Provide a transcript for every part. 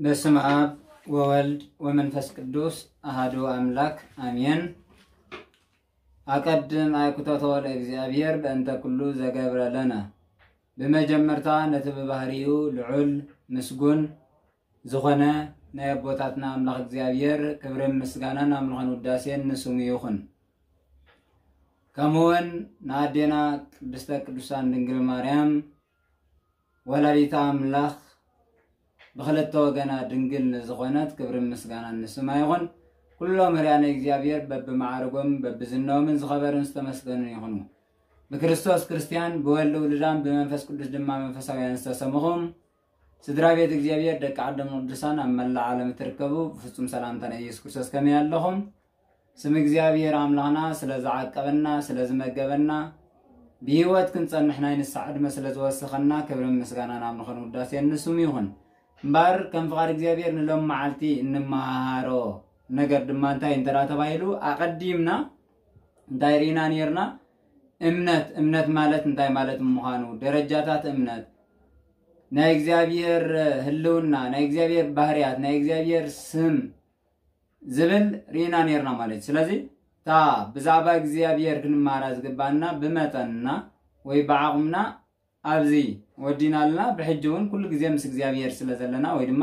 በስመ አብ ወወልድ ወመንፈስ ቅዱስ አሐዱ አምላክ አሜን። አቀድም አይ ኩተቶ ለእግዚአብሔር በእንተ ኩሉ ዘገብረ ለነ። ብመጀመርታ ነቲ ብባህሪኡ ልዑል ምስጉን ዝኾነ ናይ ኣቦታትና ኣምላኽ እግዚኣብሔር ክብርን ምስጋናን ኣምልኾን ውዳሴን ንስሙ ይኹን። ከምኡውን ንኣዴና ቅድስተ ቅዱሳን ድንግል ማርያም ወላዲተ ኣምላኽ ብኽልተ ወገና ድንግል ንዝኾነት ክብርን ምስጋናን ንስማ ይኹን። ኩሎም ህርያነ እግዚኣብሔር በብመዓርጎም በብዝነኦምን ዝኸበሩን ዝተመስገኑን ይኹኑ። ብክርስቶስ ክርስቲያን፣ ብወልድ ውሉዳን ብመንፈስ ቅዱስ ድማ መንፈሳውያን ዝተሰምኹም ስድራ ቤት እግዚኣብሔር ደቂ ዓዶም ቅዱሳን ኣብ መላእ ዓለም እትርከቡ ብፍጹም ሰላምታ ናይ ኢየሱስ ክርስቶስ ከመይ ኣለኹም? ስም እግዚኣብሔር ኣምላኽና ስለ ዝዓቀበና፣ ስለ ዝመገበና፣ ብህይወት ክንጸንሕ ናይ ንስሓ ዕድመ ስለ ዝወሰኸና ክብርን ምስጋናን ኣምልኾን ውዳሴን ንስሙ ይኹን። እምበኣር ከም ፍቓድ እግዚኣብሔር ንሎም መዓልቲ እንመሃሃሮ ነገር ድማ እንታይ እንተ ደኣ ተባሂሉ ኣቐዲምና እንታይ ርኢና ነይርና? እምነት፣ እምነት ማለት እንታይ ማለት ምዃኑ፣ ደረጃታት እምነት፣ ናይ እግዚኣብሔር ህልውና፣ ናይ እግዚኣብሔር ባህርያት፣ ናይ እግዚኣብሔር ስም ዝብል ርኢና ነይርና ማለት እዩ። ስለዚ እታ ብዛዕባ እግዚኣብሔር ክንመሃራ ዝግባና ብመጠንና ወይ ብዓቕምና ኣብዚ ወዲና ኣለና። ብሕጂ እውን ኩሉ ግዜ ምስ እግዚኣብሔር ስለ ዘለና ወይ ድማ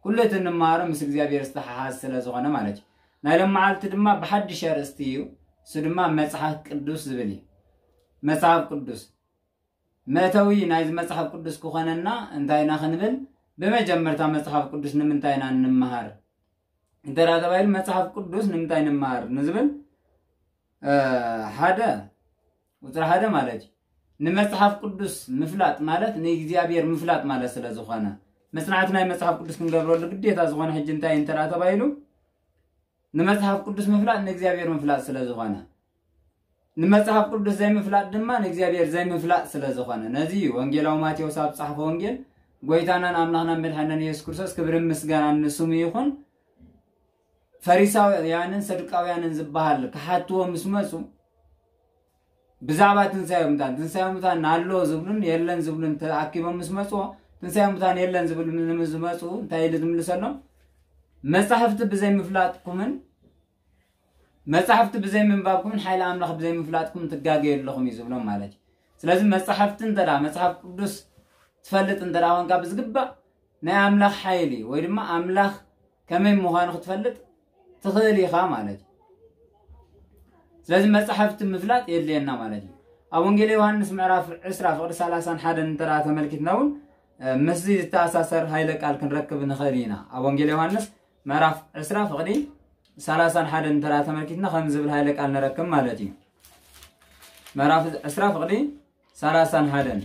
ኩሉ እቲ እንመሃሮ ምስ እግዚኣብሔር ዝተሓሓዝ ስለ ዝኾነ ማለት እዩ። ናይ ሎም መዓልቲ ድማ ብሓድሽ ኣርእስቲ እዩ። እሱ ድማ መጽሓፍ ቅዱስ ዝብል እዩ። መጽሓፍ ቅዱስ መእተዊ ናይዚ መጽሓፍ ቅዱስ ክኾነና እንታይ ኢና ክንብል? ብመጀመርታ መጽሓፍ ቅዱስ ንምንታይ ኢና እንመሃር? እንተ ደኣ ተባሂሉ መጽሓፍ ቅዱስ ንምንታይ ንምሃር ንዝብል፣ እ፣ ሓደ፣ ቁጽሪ ሓደ ማለት እዩ። ንመጽሓፍ ቅዱስ ምፍላጥ ማለት ንእግዚኣብሔር ምፍላጥ ማለት ስለ ዝኾነ፣ መጽናዕቲ ናይ መጽሓፍ ቅዱስ ክንገብረሉ ግዴታ ዝኾነ ሕጂ እንታይ እንተ ደኣ ተባሂሉ፣ ንመጽሓፍ ቅዱስ ምፍላጥ ንእግዚኣብሔር ምፍላጥ ስለ ዝኾነ፣ ንመጽሓፍ ቅዱስ ዘይምፍላጥ ድማ ንእግዚኣብሔር ዘይምፍላጥ ስለ ዝኾነ፣ ነዚ እዩ ወንጌላዊ ማቴዎስ ኣብ ዝጸሓፎ ወንጌል፣ ጎይታናን ኣምላኽናን መድሓናን የሱስ ክርስቶስ ክብርን ምስጋናን ንስሙ ይኹን፣ ፈሪሳውያንን ሰዱቃውያንን ዝበሃል ክሓትዎ ምስ መጹ፣ ብዛዕባ ትንሳኤ ሙታን፣ ትንሳኤ ሙታን ኣሎ ዝብሉን የለን ዝብሉን ተኣኪቦም ምስ መጹ፣ ትንሳኤ ሙታን የለን ዝብሉ ምስ ዝመጹ፣ እንታይ ኢሉ ዝምልሰሎም? መጻሕፍቲ ብዘይምፍላጥኩምን መጻሕፍቲ ብዘይምንባብኩምን ሓይሊ ኣምላኽ ብዘይምፍላጥኩም ትጋገዩ ኣለኹም እዩ ዝብሎም ማለት እዩ። ስለዚ መጻሕፍቲ እንተ ደኣ፣ መጽሓፍ ቅዱስ ትፈልጥ እንተ ደኣ ኮንካ ብዝግባእ ናይ ኣምላኽ ሓይሊ ወይ ድማ ኣምላኽ ከመይ ምዃኑ ክትፈልጥ ትኽእል ኢኻ ማለት እዩ። ስለዚ መጻሕፍቲ ምፍላጥ የድልየና ማለት እዩ። ኣብ ወንጌል ዮሃንስ ምዕራፍ ዕስራ ፍቕዲ ሰላሳን ሓደን እንተ ደኣ ተመልኪትና እውን፣ እ፣ ምስዚ ዝተኣሳሰር ሃይለ ቃል ክንረክብ ንኽእል ኢና። ኣብ ወንጌል ዮሃንስ ምዕራፍ ዕስራ ፍቕዲ ሰላሳን ሓደን እንተ ደኣ ተመልኪትና ከምዚ ዝብል ሃይለ ቃል ንረክብ ማለት እዩ። ምዕራፍ ዕስራ ፍቕዲ ሰላሳን ሓደን።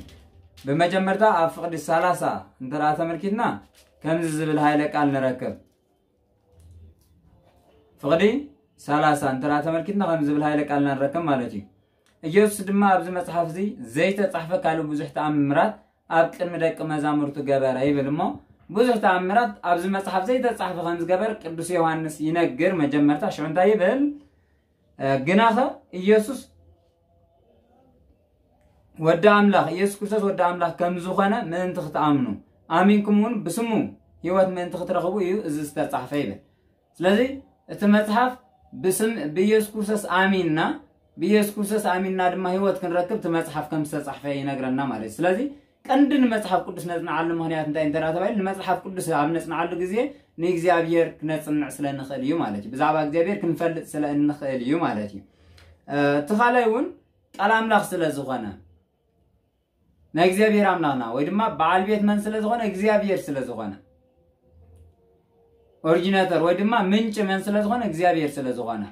ብመጀመርታ ኣብ ፍቕዲ ሰላሳ እንተ ደኣ ተመልኪትና ከምዚ ዝብል ሃይለ ቃል ንረክብ። ፍቕዲ ሰላሳ እንተ ደኣ ተመልኪትና ከምዚ ዝብል ሃይለ ቃል ንረክብ ማለት እዩ። ኢየሱስ ድማ ኣብዚ መጽሓፍ እዚ ዘይተጻሕፈ ካልእ ብዙሕ ተኣምራት ኣብ ቅድሚ ደቂ መዛሙርቱ ገበረ ይብል እሞ፣ ብዙሕ ተኣምራት ኣብዚ መጽሓፍ ዘይተጻሕፈ ከም ዝገበር ቅዱስ ዮሃንስ ይነግር። መጀመርታ ሽዑ እንታይ ይብል? እ፣ ግናኸ ኢየሱስ ወዲ ኣምላኽ፣ ኢየሱስ ክርስቶስ ወዲ ኣምላኽ ከም ዝኾነ ምእንቲ ክትኣምኑ፣ ኣሚንኩም እውን ብስሙ ህይወት ምእንቲ ክትረኽቡ እዩ እዚ ዝተጻሕፈ ይብል። ስለዚ እቲ መጽሓፍ ብስም፣ ብኢየሱስ ክርስቶስ ኣሚንና፣ ብኢየሱስ ክርስቶስ ኣሚንና ድማ ህይወት ክንረክብ እቲ መጽሓፍ ከም ዝተጻሕፈ ይነግረና ማለት እዩ። ስለዚ ቀንዲ ንመጽሓፍ ቅዱስ ነጽንዓሉ ምኽንያት እንታይ እንተ ደኣ ተባሂሉ፣ ንመጽሓፍ ቅዱስ ኣብ ነጽንዓሉ ግዜ ንእግዚኣብሔር ክነጽንዕ ስለ እንኽእል እዩ ማለት እዩ። ብዛዕባ እግዚኣብሔር ክንፈልጥ ስለ እንኽእል እዩ ማለት እዩ። እ፣ እቲ ካልኣይ እውን ቃል ኣምላኽ ስለ ዝኾነ፣ ናይ እግዚኣብሔር ኣምላኽና ወይ ድማ በዓል ቤት መን ስለ ዝኾነ? እግዚኣብሔር ስለ ዝኾነ። ኦሪጂነተር ወይ ድማ ምንጪ መን ስለ ዝኾነ? እግዚኣብሔር ስለ ዝኾነ።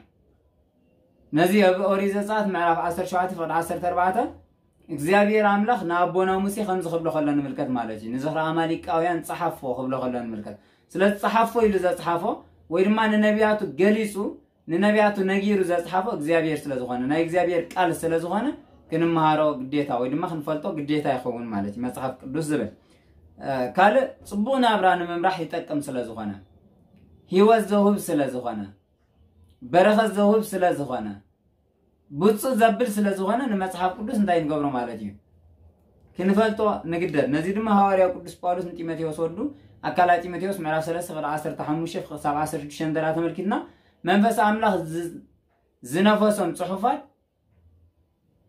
ነዚ ኣብ ኦሪት ዘጸኣት ምዕራፍ ዓሰርተ ሸውዓተ ፍቕዲ ዓሰርተ ኣርባዕተ እግዚኣብሔር ኣምላኽ ንኣቦና ሙሴ ከምዚ ክብሎ ከሎ ንምልከት ማለት እዩ። ንዝኽሪ ኣማሊቃውያን ጸሓፎ ክብሎ ከሎ ንምልከት። ስለዚ ጸሓፎ ኢሉ ዘጽሓፎ ወይ ድማ ንነቢያቱ ገሊጹ፣ ንነቢያቱ ነጊሩ ዘጽሓፎ እግዚኣብሔር ስለ ዝኾነ፣ ናይ እግዚኣብሔር ቃል ስለ ዝኾነ ክንመሃሮ ግዴታ ወይ ድማ ክንፈልጦ ግዴታ ይኸውን ማለት እዩ። መጽሓፍ ቅዱስ ዝብል፣ እ፣ ካልእ ጽቡቕ ናብራ ንምምራሕ ይጠቅም ስለ ዝኾነ፣ ህይወት ዘውህብ ስለ ዝኾነ፣ በረኸት ዘውህብ ስለ ዝኾነ፣ ብጹእ ዘብል ስለ ዝኾነ ንመጽሓፍ ቅዱስ እንታይ ንገብሮ ማለት እዩ? ክንፈልጦ ንግደድ። ነዚ ድማ ሃዋርያው ቅዱስ ጳውሎስ ንጢሞቴዎስ ወዱ ኣብ ካልኣይ ጢሞቴዎስ ምዕራፍ ሰለስተ ፍቕዲ ዓሰርተ ሓሙሽተ ክሳብ ዓሰርተ ሽዱሽተ እንተ ተመልኪትና፣ መንፈስ ኣምላኽ ዝ- ዝነፈሶም ጽሑፋት፣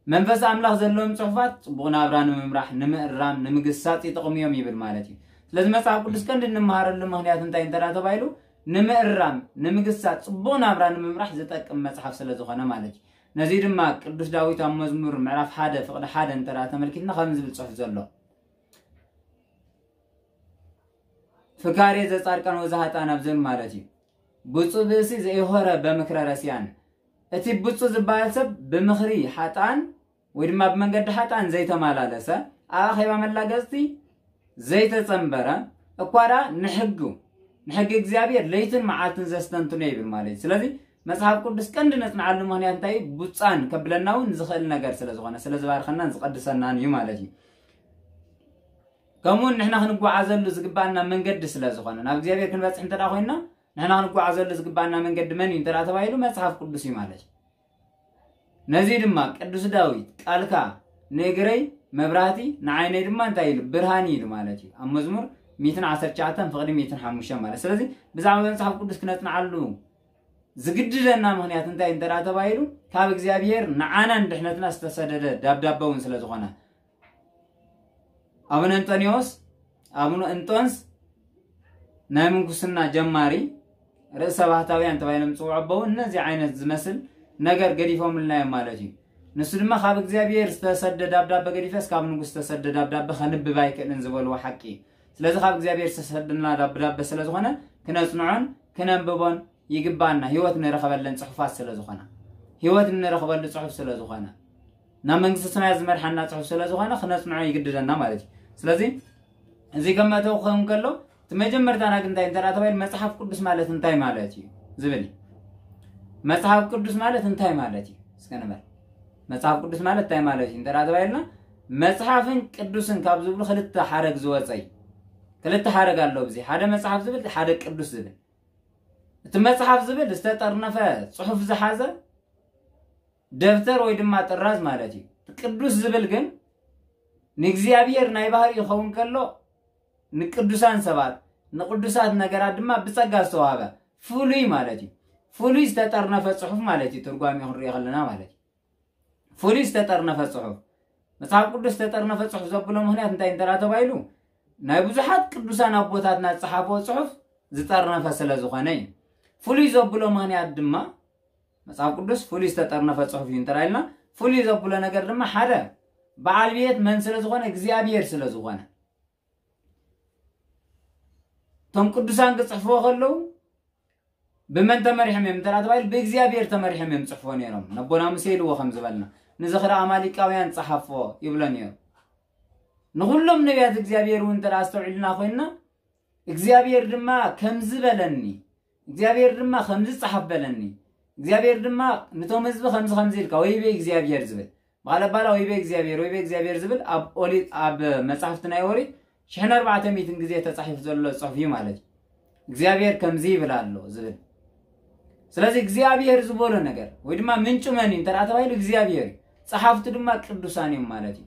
መንፈስ ኣምላኽ ዘለዎም ጽሑፋት ጽቡቕ ናብራ ንምምራሕ፣ ንምእራም፣ ንምግሳጽ ይጠቕሙ እዮም ይብል ማለት እዩ። ስለዚ መጽሓፍ ቅዱስ ቀንዲ እንመሃረሉ ምኽንያት እንታይ እንተ ተባሂሉ፣ ንምእራም፣ ንምግሳጽ፣ ጽቡቕ ናብራ ንምምራሕ ዝጠቅም መጽሓፍ ስለ ዝኾነ ማለት እዩ። ነዚ ድማ ቅዱስ ዳዊት ኣብ መዝሙር ምዕራፍ ሓደ ፍቕዲ ሓደ እንተ ተመልኪትና ከም ዝብል ጽሑፍ ዘሎ፣ ፍካሬ ዘጻድቃን ወዘ ሀጣን ኣብ ዝብል ማለት እዩ። ብፁዕ ብእሲ ዘይሆረ በምክረ ረሲያን፣ እቲ ብፁዕ ዝበሃል ሰብ ብምኽሪ ሓጣን ወይ ድማ ብመንገዲ ሓጣን ዘይተመላለሰ፣ ኣብ ኣኼባ መላገጽቲ ዘይተጸንበረ፣ እኳ ደኣ ንሕጉ ንሕጊ እግዚኣብሔር ለይትን መዓልትን ዘስተንትኖ ይብል ማለት እዩ። ስለዚ መጽሓፍ ቅዱስ ቀንዲ ነጽንዓሉ ምኽንያት እንታይ እዩ? ብፁዓን ከብለና እውን ዝኽእል ነገር ስለ ዝኾነ፣ ስለ ዝባርኸናን ዝቐድሰናን እዩ ማለት እዩ። ከምኡውን ንሕና ክንጓዓዘሉ ዝግባኣና መንገዲ ስለ ዝኾነ፣ ናብ እግዚኣብሔር ክንበጽሕ እንተ ኮይንና፣ ንሕና ክንጓዓዘሉ ዝግባኣና መንገዲ መን እዩ እንተ ተባሂሉ፣ መጽሓፍ ቅዱስ እዩ ማለት እዩ። ነዚ ድማ ቅዱስ ዳዊት፣ "ቃልካ ንእግረይ መብራህቲ፣ ንዓይነይ ድማ እንታይ ኢሉ? ብርሃን ኢሉ" ማለት እዩ። ኣብ መዝሙር ሚእትን ዓሰርተ ትሽዓተን ፍቕዲ ሚእትን ሓሙሽተን ማለት። ስለዚ ብዛዕባ መጽሓፍ ቅዱስ ክነጽንዓሉ ዝግድደና ምኽንያት እንታይ እንተ ተባሂሉ፣ ካብ እግዚኣብሔር ንዓናን ድሕነትና ዝተሰደደ ዳብዳበ እውን ስለ ዝኾነ፣ ኣቡነ እንጦንዮስ፣ ኣቡነ እንጦንስ ናይ ምንኩስና ጀማሪ፣ ርእሰ ባህታውያን ተባሂሎም ዝጽውዑ ኣቦ እውን ነዚ ዓይነት ዝመስል ነገር ገዲፎምልና እዮም ማለት እዩ። ንሱ ድማ ካብ እግዚኣብሔር ዝተሰደ ዳብዳበ ገዲፈስ ካብ ንጉስ ዝተሰደ ዳብዳበ ከንብብ ኣይክእልን ዝበልዎ ሓቂ እዩ። ስለዚ ካብ እግዚኣብሔር ዝተሰደና ዳብዳበ ስለ ዝኾነ ክነጽንዖን ክነንብቦን ይግባና። ህይወት ንረኸበለን ጽሑፋት ስለ ዝኾና፣ ህይወት እንረኽበሉ ጽሑፍ ስለ ዝኾነ፣ ናብ መንግስቲ ሰማያት ዝመርሓና ጽሑፍ ስለ ዝኾነ ክነጽንዖ ይግድደና ማለት እዩ። ስለዚ እዚ ከም መእተዊ ክኸውን ከሎ፣ እቲ መጀመርታና ግን እንታይ እንተ ተባሂሉ፣ መጽሓፍ ቅዱስ ማለት እንታይ ማለት እዩ ዝብል እዩ። መጽሓፍ ቅዱስ ማለት እንታይ ማለት እዩ? እስከ ንበል። መጽሓፍ ቅዱስ ማለት እንታይ ማለት እዩ እንተ ተባሂልና፣ መጽሓፍን ቅዱስን ካብ ዝብሉ ክልተ ሓረግ ዝወጸ እዩ። ክልተ ሓረግ ኣሎ። እዚ ሓደ መጽሓፍ ዝብል፣ ሓደ ቅዱስ ዝብል። እቲ መጽሓፍ ዝብል ዝተጠርነፈ ጽሑፍ ዝሓዘ ደብተር ወይ ድማ ጥራዝ ማለት እዩ። ቅዱስ ዝብል ግን ንእግዚኣብሔር ናይ ባህሪ ይኸውን ከሎ፣ ንቅዱሳን ሰባት፣ ንቅዱሳት ነገራት ድማ ብጸጋ ዝተዋህበ ፍሉይ ማለት እዩ። ፍሉይ ዝተጠርነፈ ጽሑፍ ማለት እዩ። ትርጓሜ ክንሪኦ ከለና ማለት እዩ። ፍሉይ ዝተጠርነፈ ጽሑፍ። መጽሓፍ ቅዱስ ዝተጠርነፈ ጽሑፍ ዘብሎ ምኽንያት እንታይ እንተ ተባሂሉ፣ ናይ ብዙሓት ቅዱሳን ኣቦታትና ዝጸሓፍዎ ጽሑፍ ዝጠርነፈ ስለ ዝኾነ እዩ። ፍሉይ ዘብሎ ምኽንያት ድማ፣ መጽሓፍ ቅዱስ ፍሉይ ዝተጠርነፈ ጽሑፍ እዩ እንተ ኢልና፣ ፍሉይ ዘብሎ ነገር ድማ ሓደ በዓል ቤት መን ስለ ዝኾነ? እግዚኣብሔር ስለ ዝኾነ። እቶም ቅዱሳን ክጽሕፍዎ ከለዉ ብመን ተመሪሖም እዮም እንተ ተባሂሉ፣ ብእግዚኣብሔር ተመሪሖም እዮም ጽሕፍዎ ነይሮም። ነቦና ሙሴ ኢልዎ ከም ዝበልና፣ "ንዝኽሪ ኣማሊቃውያን ጸሓፍዎ" ይብሎ ነይሩ። ንኹሎም ነቢያት እግዚኣብሔር እውን እንተ ኣስተውዒልና ኮይንና፣ እግዚኣብሔር ድማ ከምዚ በለኒ፣ እግዚኣብሔር ድማ ከምዚ ጸሓፍ በለኒ፣ እግዚኣብሔር ድማ ነቶም ህዝቢ ከምዚ ከምዚ ኢልካ፣ ወይቤ እግዚኣብሔር ዝብል፣ ባለ ባላ ወይቤ እግዚኣብሔር፣ ወይቤ እግዚኣብሔር ዝብል ኣብ ኦሪት፣ ኣብ መጻሕፍቲ ናይ ኦሪት ሽሕን ኣርባዕተ ሚእትን ግዜ ተጻሒፉ ዘሎ ጽሑፍ እዩ ማለት እዩ። እግዚኣብሔር ከምዚ ይብል ኣሎ ዝብል። ስለዚ እግዚኣብሔር ዝበሎ ነገር ወይ ድማ ምንጩ መን እዩ እንተ ተባሂሉ እግዚኣብሔር እዩ። ጸሓፍቱ ድማ ቅዱሳን እዮም ማለት እዩ።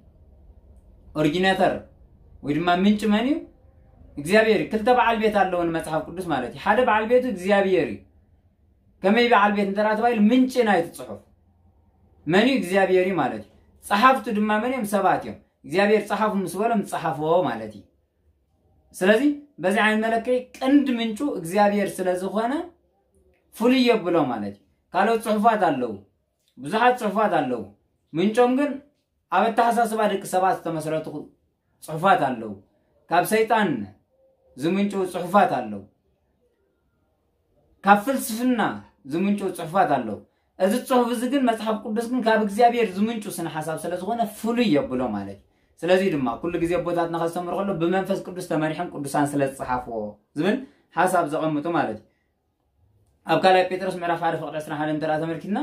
ኦሪጂኔተር ወይ ድማ ምንጭ መን እዩ? እግዚኣብሔር እዩ። ክልተ በዓል ቤት ኣለዎ ንመጽሓፍ ቅዱስ ማለት እዩ። ሓደ በዓል ቤቱ እግዚኣብሔር እዩ። ከመይ በዓል ቤት እንተ ተባሂሉ ምንጪ ናይቲ ጽሑፍ መን እዩ? እግዚኣብሔር እዩ ማለት እዩ። ጸሓፍቱ ድማ መን እዮም? ሰባት እዮም። እግዚኣብሔር ጸሓፉ ምስ በሎም ጸሓፍዎ ማለት እዩ። ስለዚ በዚ ዓይነት መለክዒ ቀንዲ ምንጩ እግዚኣብሔር ስለ ዝኾነ ፍሉይ የብሎ ማለት እዩ። ካልኦት ጽሑፋት ኣለዉ፣ ብዙሓት ጽሑፋት ኣለዉ። ምንጮም ግን ኣብ ኣተሓሳስባ ደቂ ሰባት ዝተመስረቱ ጽሑፋት ኣለዉ። ካብ ሰይጣን ዝምንጩ ጽሑፋት ኣለዉ። ካብ ፍልስፍና ዝምንጩ ጽሑፋት ኣለዉ። እዚ ጽሑፍ እዚ ግን መጽሓፍ ቅዱስ ግን ካብ እግዚኣብሔር ዝምንጩ ስነ ሓሳብ ስለ ዝኾነ ፍሉይ የብሎ ማለት እዩ። ስለዚ ድማ ኩሉ ግዜ ኣቦታትና ከስተምሩ ከሎ ብመንፈስ ቅዱስ ተመሪሖም ቅዱሳን ስለ ዝጸሓፍዎ ዝብል ሓሳብ ዘቐምጡ ማለት እዩ። ኣብ ካልኣይ ጴጥሮስ ምዕራፍ ሓደ ፍቕዲ ዕስራን ሓደን እንተ ተመልኪትና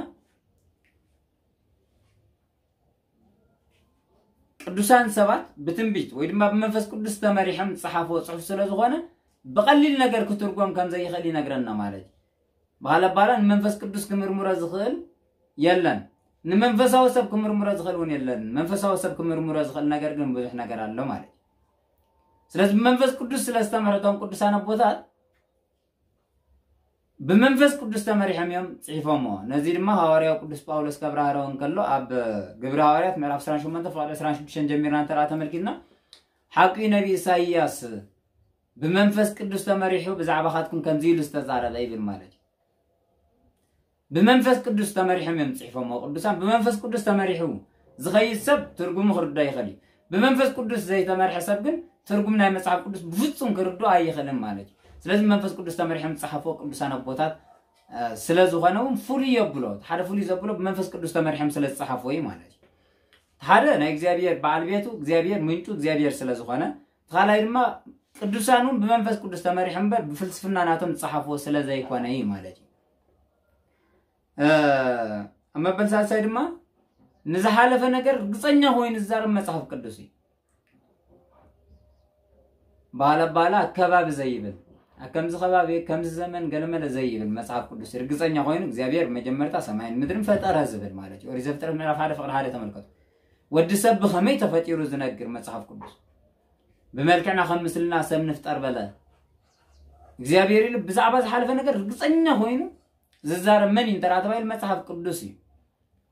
ቅዱሳን ሰባት ብትንቢት ወይ ድማ ብመንፈስ ቅዱስ ተመሪሖም ዝጸሓፍዎ ጽሑፍ ስለ ዝኾነ ብቐሊል ነገር ክትርጎም ከም ዘይኽእል ይነግረና ማለት እዩ። ብኻልእ ኣባህላ ንመንፈስ ቅዱስ ክምርምሮ ዝኽእል የለን፣ ንመንፈሳዊ ሰብ ክምርምሮ ዝኽእል እውን የለን። መንፈሳዊ ሰብ ክምርምሮ ዝኽእል ነገር ግን ብዙሕ ነገር ኣሎ ማለት እዩ። ስለዚ ብመንፈስ ቅዱስ ስለ ዝተመረቶም ቅዱሳን ኣቦታት ብመንፈስ ቅዱስ ተመሪሖም እዮም ጽሒፎሞ። ነዚ ድማ ሃዋርያው ቅዱስ ጳውሎስ ከብራህረው እንከሎ ኣብ ግብሪ ሃዋርያት ምዕራፍ ዕስራን ሸሞንተን ፍቕዲ ዕስራን ሽዱሽተን ጀሚርና እንተ ተመልኪትና ሓቂ ነቢ ኢሳይያስ ብመንፈስ ቅዱስ ተመሪሑ ብዛዕባኻትኩም ከምዚ ኢሉ ዝተዛረበ ይብል ማለት እዩ። ብመንፈስ ቅዱስ ተመሪሖም እዮም ጽሒፎሞ ቅዱሳን። ብመንፈስ ቅዱስ ተመሪሑ ዝኸይድ ሰብ ትርጉሙ ክርዳ ይኽእል እዩ። ብመንፈስ ቅዱስ ዘይተመርሐ ሰብ ግን ትርጉም ናይ መጽሓፍ ቅዱስ ብፍጹም ክርዶ ኣይኽእልን ማለት እዩ። ስለዚ መንፈስ ቅዱስ ተመሪሖም ዝጸሓፍዎ ቅዱሳን ኣቦታት ስለ ዝኾነ እውን ፍሉይ የብሎ። ሓደ ፍሉይ ዘብሎ ብመንፈስ ቅዱስ ተመሪሖም ስለ ዝጸሓፍዎ እዩ ማለት እዩ። ሓደ ናይ እግዚኣብሔር በዓል ቤቱ እግዚኣብሔር ምንጩ እግዚኣብሔር ስለ ዝኾነ፣ ካልኣይ ድማ ቅዱሳን እውን ብመንፈስ ቅዱስ ተመሪሖም እምበር ብፍልስፍና ናቶም ዝጸሓፍዎ ስለ ዘይኮነ እዩ ማለት እዩ። ኣብ መበል ሳልሳይ ድማ ንዝሓለፈ ነገር ርግጸኛ ኮይኑ ዝዛረብ መጽሓፍ ቅዱስ እዩ። ባለ ባለ ኣከባቢ ዘይብል፣ ከምዚ ከባቢ ከምዚ ዘመን ገለመለ ዘይብል መጽሓፍ ቅዱስ ርግጸኛ ኮይኑ እግዚኣብሔር መጀመርታ ሰማይን ምድርን ፈጠረ ዝብል ማለት እዩ። ኦሪት ዘፍጥረት ምዕራፍ ሓደ ፍቕዲ ሓደ ተመልከቱ። ወዲ ሰብ ብኸመይ ተፈጢሩ ዝነግር መጽሓፍ ቅዱስ። ብመልክዕና ከም ምስልና ሰብ ንፍጠር በለ እግዚኣብሔር ኢሉ ብዛዕባ ዝሓለፈ ነገር ርግጸኛ ኮይኑ ዝዛረብ መን እዩ እንተ ተባሂሉ መጽሓፍ ቅዱስ እዩ።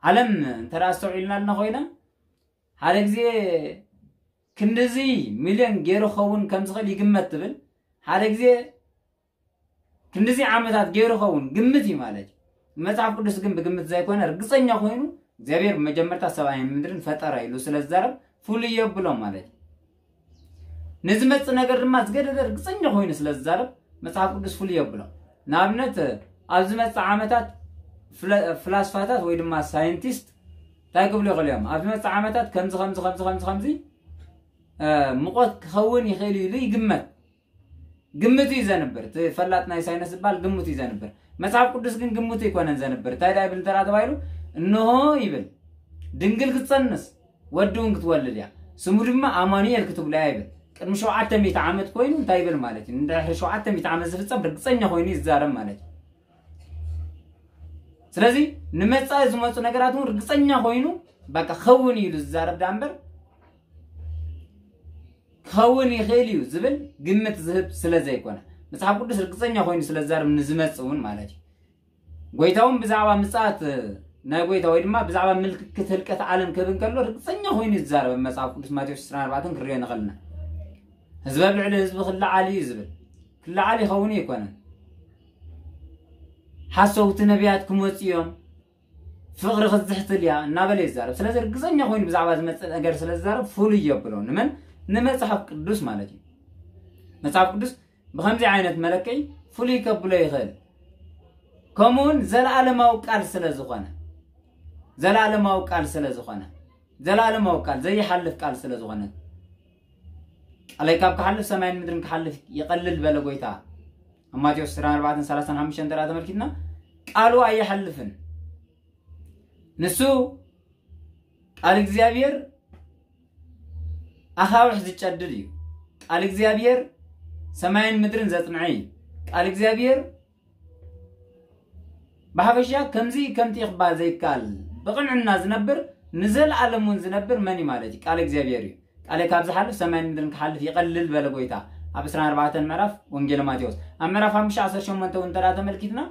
ዓለም እንተ ኣስተውዒልናልና ኮይና ሓደ ግዜ ክንድዚ ሚልዮን ገይሩ ክኸውን ከም ዝኽእል ይግመት ትብል። ሓደ ግዜ ክንድዚ ዓመታት ገይሩ ክኸውን ግምት እዩ ማለት እዩ። መጽሓፍ ቅዱስ ግን ብግምት ዘይኮነ ርግጸኛ ኮይኑ እግዚኣብሔር ብመጀመርታ ሰማይን ምድርን ፈጠረ ኢሉ ስለ ዝዛረብ ፍሉይ የብሎ ማለት እዩ። ንዝመጽእ ነገር ድማ ዝገደደ ርግጸኛ ኮይኑ ስለ ዝዛረብ መጽሓፍ ቅዱስ ፍሉይ የብሎ። ንኣብነት ኣብ ዝመጽእ ዓመታት ፍለ- ፍላስፋታት ወይ ድማ ሳይንቲስት እንታይ ክብሉ ይኽእሉ እዮም? ኣብ ዝመጽእ ዓመታት ከምዚ ከምዚ ከምዚ ከምዚ ከምዚ እ፣ ሙቐት ክኸውን ይኽእል እዩ ኢሉ ይግመት። ግምቱ እዩ ዘንብር። እቲ ፈላጥ ናይ ሳይንስ ዝበሃል ግምቱ እዩ ዘንብር። መጽሓፍ ቅዱስ ግን ግምቱ ኣይኮነን ዘንብር። እንታይ ደኣ ይብል እንተ ተባሂሉ፣ እንሆ ይብል፣ ድንግል ክትጸንስ ወዲ እውን ክትወልድ እያ፣ ስሙ ድማ ኣማኑኤል ክትብሎ እያ ይብል። ቅድሚ ሸውዓተ ሚእቲ ዓመት ኮይኑ እንታይ ይብል ማለት እዩ? ንድሕሪ ሸውዓተ ሚእቲ ዓመት ዝፍጸም ርግጸኛ ኮይኑ ይዛረብ ማለት እዩ። ስለዚ ንመጻኢ ዝመጹ ነገራት እውን ርግጸኛ ኮይኑ በቃ ክኸውን እዩ ኢሉ ዝዛረብ ደኣ እምበር ክኸውን ይኽእል እዩ ዝብል ግምት ዝህብ ስለ ዘይኮነ፣ መጽሓፍ ቅዱስ ርግጸኛ ኮይኑ ስለ ዝዛረብ ንዝመጽእ እውን ማለት እዩ። ጎይታ እውን ብዛዕባ ምጽኣት ናይ ጎይታ ወይ ድማ ብዛዕባ ምልክት ህልቀት ዓለም ክህብ እንከሎ ርግጸኛ ኮይኑ እዩ ዝዛረብ። ኣብ መጽሓፍ ቅዱስ ማቴዎስ ዕስራን ኣርባዕተን ክንሪኦ ንኽእል ኢና። ህዝቢ ኣብ ልዕሊ ህዝቢ ክለዓል እዩ ዝብል። ክለዓል ይኸውን ኣይኮነን። ሓሰውቲ ነቢያት ክመጹ እዮም፣ ፍቕሪ ክትዝሕትል እያ እናበለ ይዛረብ። ስለዚ ርግጸኛ ኮይኑ ብዛዕባ ዝመጽእ ነገር ስለ ዝዛረብ ፍሉይ የብሎ። ንመን? ንመጽሓፍ ቅዱስ ማለት እዩ። መጽሓፍ ቅዱስ ብኸምዚ ዓይነት መለክዒ ፍሉይ ከብሎ ይኽእል። ከምኡውን ዘለዓለማዊ ቃል ስለ ዝኾነ፣ ዘለዓለማዊ ቃል ስለ ዝኾነ፣ ዘለዓለማዊ ቃል ዘይሓልፍ ቃል ስለ ዝኾነ፣ ቃለይ ካብ ክሓልፍ ሰማይን ምድርን ክሓልፍ ይቐልል በለ ጎይታ። ኣብ ማቴዎስ ዕስራን ኣርባዕተን ሰላሳን ሓሙሽተን እንተ ተመልኪትና ቃሉ ኣይሓልፍን። ንሱ ቃል እግዚኣብሔር ኣኻውሕ ዝጨድድ እዩ። ቃል እግዚኣብሔር ሰማይን ምድርን ዘጽንዐ እዩ። ቃል እግዚኣብሔር ብሓፈሻ ከምዚ ከምቲ ክበሃል ዘይከኣል ብቕንዕና ዝነብር ንዘለኣለም እውን ዝነብር መን እዩ ማለት እዩ? ቃል እግዚኣብሔር እዩ። ቃለይ ካብ ዝሓልፍ ሰማይን ምድርን ክሓልፍ ይቐልል በለ ጎይታ ኣብ ዕስራን ኣርባዕተን ምዕራፍ ወንጌል ማቴዎስ። ኣብ ምዕራፍ ሓሙሽተ ዓሰርተ ሸሞንተ እውን እንተ ተመልኪትና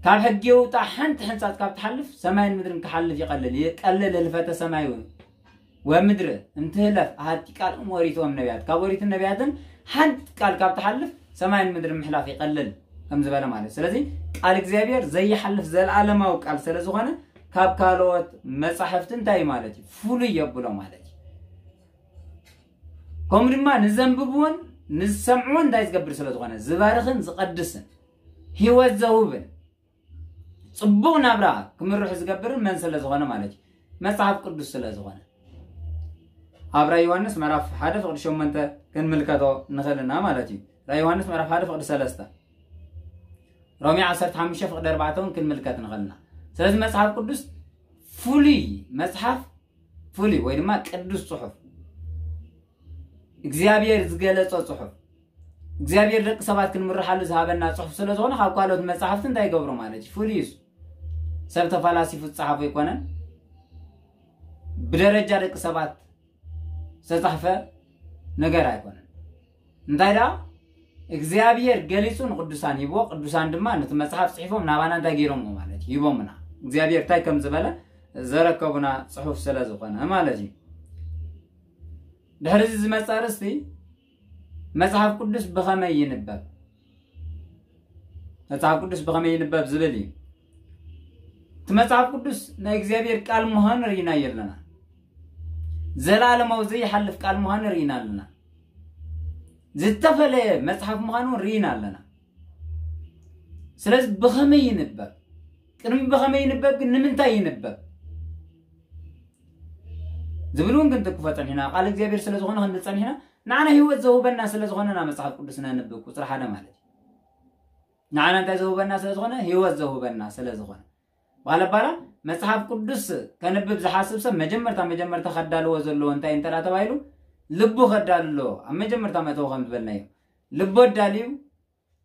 ካብ ሕጊ የውጣ ሓንቲ ሕንጻጽ ካብ ትሓልፍ ሰማይን ምድርን ክሓልፍ ይቐልል። ይቀልል ህልፈተ ሰማይ እውን ወምድር እንትህለፍ ኣሃቲ ቃል እም ኦሪት ወም ነቢያት ካብ ኦሪትን ነቢያትን ሓንቲ ቃል ካብ ትሓልፍ ሰማይን ምድርን ምሕላፍ ይቐልል ከም ዝበለ ማለት። ስለዚ ቃል እግዚኣብሔር ዘይሓልፍ ዘለዓለማዊ ቃል ስለ ዝኾነ ካብ ካልኦት መጻሕፍቲ እንታይ ማለት እዩ? ፍሉይ የብሎ ማለት እዩ። ከምኡ ድማ ንዘንብብዎን ንዝሰምዕዎን እንታይ ዝገብር ስለ ዝኾነ ዝባርኽን ዝቐድስን ህይወት ዘውብን ጽቡቕ ናብራ ክምርሑ ዝገብርን መን ስለ ዝኾነ ማለት እዩ? መጽሓፍ ቅዱስ ስለ ዝኾነ። ኣብ ራእይ ዮሃንስ ምዕራፍ ሓደ ፍቕዲ ሸሞንተ ክንምልከቶ ንኽእል ኢና ማለት እዩ። ራእይ ዮሃንስ ምዕራፍ ሓደ ፍቕዲ ሰለስተ፣ ሮሜ ዓሰርተ ሓሙሽተ ፍቕዲ ኣርባዕተ እውን ክንምልከት ንኽእል ኢና። ስለዚ መጽሓፍ ቅዱስ ፍሉይ መጽሓፍ፣ ፍሉይ ወይ ድማ ቅዱስ ጽሑፍ እግዚኣብሔር ዝገለጾ ጽሑፍ እግዚኣብሔር ደቂ ሰባት ክንምርሓሉ ዝሃበና ጽሑፍ ስለ ዝኾነ ካብ ካልኦት መጻሕፍቲ እንታይ ይገብሮ ማለት እዩ? ፍሉይ እዩ። ሰብ ተፈላሲፉ ዝጸሓፎ ኣይኮነን። ብደረጃ ደቂ ሰባት ዝተጻሕፈ ነገር ኣይኮነን። እንታይ ደኣ እግዚኣብሔር ገሊጹ ንቅዱሳን ሂብዎ፣ ቅዱሳን ድማ ነቲ መጽሓፍ ጽሒፎም ናባና እንታይ ገይሮምዎ ማለት እዩ? ሂቦምና። እግዚኣብሔር እንታይ ከም ዝበለ ዘረከቡና ጽሑፍ ስለ ዝኾነ ማለት እዩ። ድሕሪ እዚ ዝመጽእ ኣርእስቲ መጽሓፍ ቅዱስ ብኸመይ ይንበብ? መጽሓፍ ቅዱስ ብኸመይ ይንበብ ዝብል እዩ። እቲ መጽሓፍ ቅዱስ ናይ እግዚኣብሔር ቃል ምዃኑ ርኢናዮ ኣለና። ዘለዓለማዊ ዘይሓልፍ ቃል ምዃኑ ርኢና ኣለና። ዝተፈለየ መጽሓፍ ምዃኑ እውን ርኢና ኣለና። ስለዚ ብኸመይ ይንበብ? ቅድሚ ብኸመይ ይንበብ ግን ንምንታይ ይንበብ ዝብል እውን ክንትክፎ ጸኒሕና። ቃል እግዚኣብሔር ስለ ዝኾነ ክንብል ጸኒሕና። ንዓና ህይወት ዘውህበና ስለ ዝኾነ ኢና መጽሓፍ ቅዱስ ነንብብ፣ ቁጽሪ ሓደ ማለት እዩ። ንዓና እንታይ ዘውህበና ስለ ዝኾነ? ህይወት ዘውህበና ስለ ዝኾነ። ባለባላ መጽሓፍ ቅዱስ ከንብብ ዝሓስብ ሰብ መጀመርታ መጀመርታ ከዳልዎ ዘለዎ እንታይ እንተ ደኣ ተባሂሉ፣ ልቡ ከዳሉ ኣለዎ። ኣብ መጀመርታ መእተዊ ከም ዝበልናዮ፣ ልቡ ኣዳልዩ፣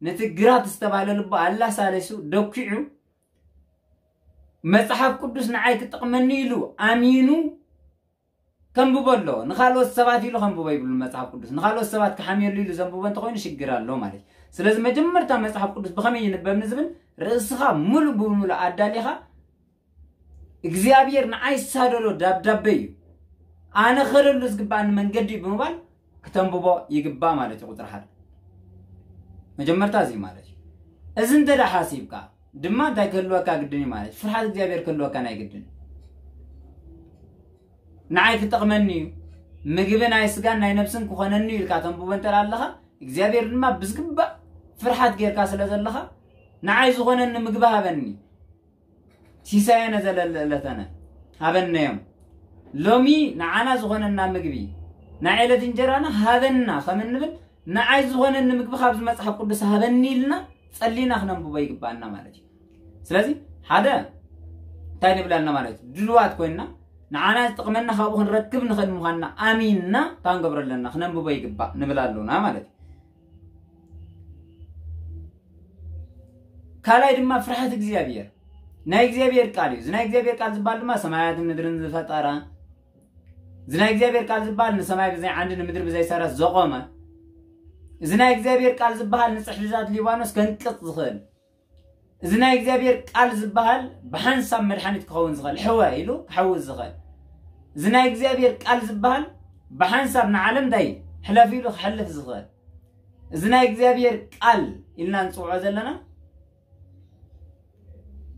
ነቲ ግራት ዝተባህለ ልቡ ኣላሳለሱ፣ ደኪዑ፣ መጽሓፍ ቅዱስ ንዓይ ክጠቕመኒ ኢሉ ኣሚኑ ከንብቦ ኣለዎ። ንኻልኦት ሰባት ኢሉ ከንብቦ ይብሉ መጽሓፍ ቅዱስ። ንኻልኦት ሰባት ክሓምየሉ ኢሉ ዘንብቦ እንተኾይኑ ሽግር ኣሎ ማለት እዩ። ስለዚ መጀመርታ መጽሓፍ ቅዱስ ብኸመይ ይንበብ ንዝብል፣ ርእስኻ ሙሉእ ብምሉእ ኣዳሊኻ፣ እግዚኣብሔር ንዓይ ዝሳደሎ ዳብዳበ እዩ፣ ኣነ ኸደሉ ዝግባኣኒ መንገዲ እዩ ብምባል ክተንብቦ ይግባእ ማለት እዩ። ቁጽሪ ሓደ መጀመርታ እዚ ማለት እዩ። እዚ እንተ ደኣ ሓሲብካ ድማ እንታይ ክህልወካ ግድን እዩ ማለት እዩ? ፍርሃት እግዚኣብሔር ክህልወካ ናይ ግድን። ንዓይ ክጠቕመኒ እዩ፣ ምግቢ ናይ ስጋን ናይ ነብስን ክኾነኒ እዩ ኢልካ ተንብቦ እንተ ደኣ ኣለኻ፣ እግዚኣብሔር ድማ ብዝግባእ ፍርሃት ጌርካ ስለ ዘለኻ፣ ንዓይ ዝኾነኒ ምግቢ ሃበኒ፣ ሲሳየነ ዘለለዕለተነ ሃበነዮም። ሎሚ ንዓና ዝኾነና ምግቢ፣ ናይ ዕለት እንጀራና ሃበና ከም እንብል፣ ንዓይ ዝኾነኒ ምግቢ ካብዚ መጽሓፍ ቅዱስ ሃበኒ ኢልና ጸሊና ክነንብቦ ይግባኣና ማለት እዩ። ስለዚ ሓደ እንታይ ንብለልና ማለት እዩ? ድልዋት ኮይንና ንዓና ዝጠቕመና ካብኡ ክንረክብ ንኽእል ምዃንና ኣሚንና እንታይ ክንገብሮ ኣለና? ክነንብቦ ይግባእ ንብል ኣለና ማለት እዩ። ካልኣይ ድማ ፍርሃት እግዚኣብሔር፣ ናይ እግዚኣብሔር ቃል እዩ። እዚ ናይ እግዚኣብሔር ቃል ዝበሃል ድማ ሰማያትን ምድርን ዝፈጠረ፣ እዚ ናይ እግዚኣብሔር ቃል ዝበሃል ንሰማይ ብዘይ ዓንዲ ንምድሪ ብዘይ ሰረት ዘቆመ፣ እዚ ናይ እግዚኣብሔር ቃል ዝበሃል ንጽሕድታት ሊባኖስ ከንቅጽ ዝኽእል፣ እዚ ናይ እግዚኣብሔር ቃል ዝበሃል ብሓንሳብ መድሓኒት ክኸውን ዝኽእል፣ ሕወ ኢሉ ክሕውስ ዝኽእል፣ እዚ ናይ እግዚኣብሔር ቃል ዝበሃል ብሓንሳብ ንዓለም እንታይ ሕለፍ ኢሉ ክሕልፍ ዝኽእል፣ እዚ ናይ እግዚኣብሔር ቃል ኢልና ንጽውዖ ዘለና